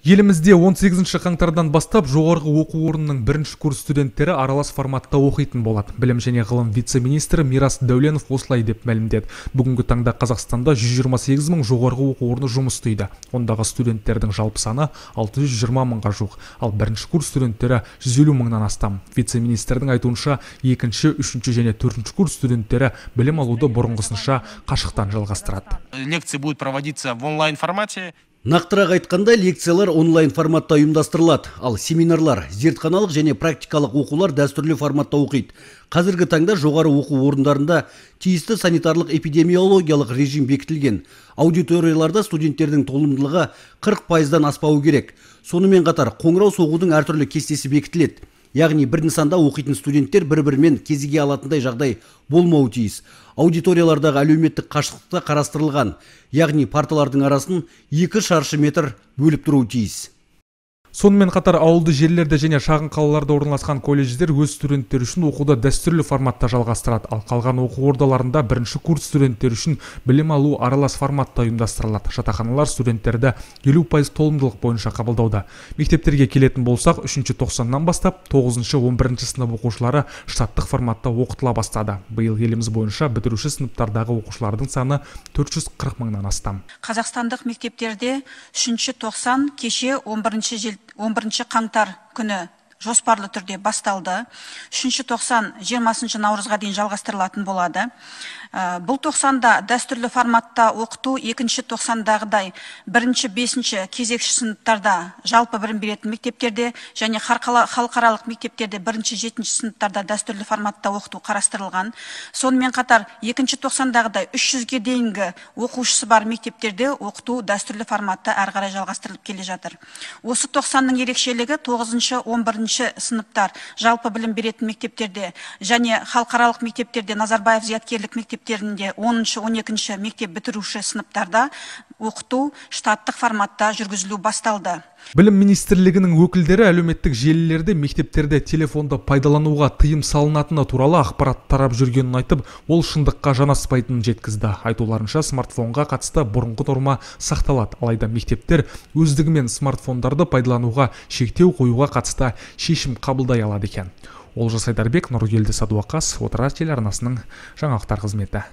Елімізде 18 қаңтардан бастап жоғарғы оқу орнының бірінші курс студенттері аралас форматта оқитын болады. Білім және ғылым вице-министрі Мирас Дәуленов осылай деп мәлімдеді. Бүгінгі таңда Қазақстанда 128 мың жоғарғы оқу орны жұмыс істейді. Ондағы студенттердің жалпы саны 620 мыңға жуық, ал бірінші курс студенттері 150 мыңнан астам. Вице-министрдің айтуынша, екінші, үшінші және төртінші курс студенттері білім алуды бұрынғысынша қашықтан жалғастырады. Лекции будут проводиться в онлайн формате. Нақтырақ айтқанда, лекциялар онлайн форматта ұйымдастырылады, ал семинарлар, зертханалық және практикалық оқулар дәстүрлі форматта оқиды. Қазіргі таңда жоғары оқу орындарында тиісті санитарлық эпидемиологиялық режим бекітілген. Аудиторияларда студенттердің толымдылығы 40%-дан аспауы керек. Сонымен қатар, қоңырау соғудың әртүрлі кестесі бекітіледі. Яғни бір нысанда оқитын студенттер бір-бірімен кезіге алатындай жағдай болмауы тиіс. Аудиториялардағы әлеуметтік қашықтықта қарастырылған, яғни парталардың арасын 2 шаршы метр бөліп тұруы тиіс. Сонымен қатар ауылды жерлерде және шағын қалаларда орналасқан колледждер өз студенттері үшін оқуды дәстүрлі форматта жалғастырады, ал қалған оқу ордаларында бірінші курс студенттері үшін білім алу аралас форматта ұйымдастырылады. Жатақханалар студенттерді 50% толымдылық бойынша қабылдауда. Мектептерге келетін болсақ, 3-ші тоқсаннан бастап 9-шы 11-ші сынып оқушылары штаттық форматта оқытыла бастады. Биыл еліміз бойынша бітіруші сыныптардағы оқушылардың саны 440 мыңнан астам. Қазақстандық мектептерде 3-ші тоқсан кеше 11 қаңтар күні жоспарлы түрде басталды. 3-ші тоқсан 20 наурызға дейін жалғастырылатын болады. Бұл тоқсанда дәстүрлі форматта оқыту 2-ші тоқсандағыдай 1-ші 5-ші кезекші сыныптарда жалпы білім беретін мектептерде және халықаралық мектептерде 1-ші 7-ші сыныптарда дәстүрлі форматта оқыту қарастырылған. Сонымен қатар 2-ші тоқсандағыдай 300-ге дейінгі оқушысы бар мектептерде оқыту дәстүрлі форматта әрі қарай жалғастырылып келе жатыр. Осы тоқсанның ерекшелігі 9-ші 11-ші сыныптар жалпы білім беретін мектептерде және халықаралық мектептерде Назарбаев зияткерлік мектептерінде 10-ші 12-ші мектеп бітіруші сыныптарда оқыту штаттық форматта жүргізілу басталды. Білім министрлігінің өкілдері әлеуметтік желілерде мектептерде телефонды пайдалануға тыйым салынатыны туралы ақпарат тарап жүргенін айтып, ол шындыққа жанаспайтынын жеткізді. Айтуларынша смартфонға қатысты бұрынғы норма сақталады, алайда мектептер өздігімен смартфондарды пайдалануға шектеу қоюға қатысты шешім қабылдай алады екен. Олжас Айдарбек, Нұргелді Садуақас, Отырар телеарнасының жаңалықтар қызметі.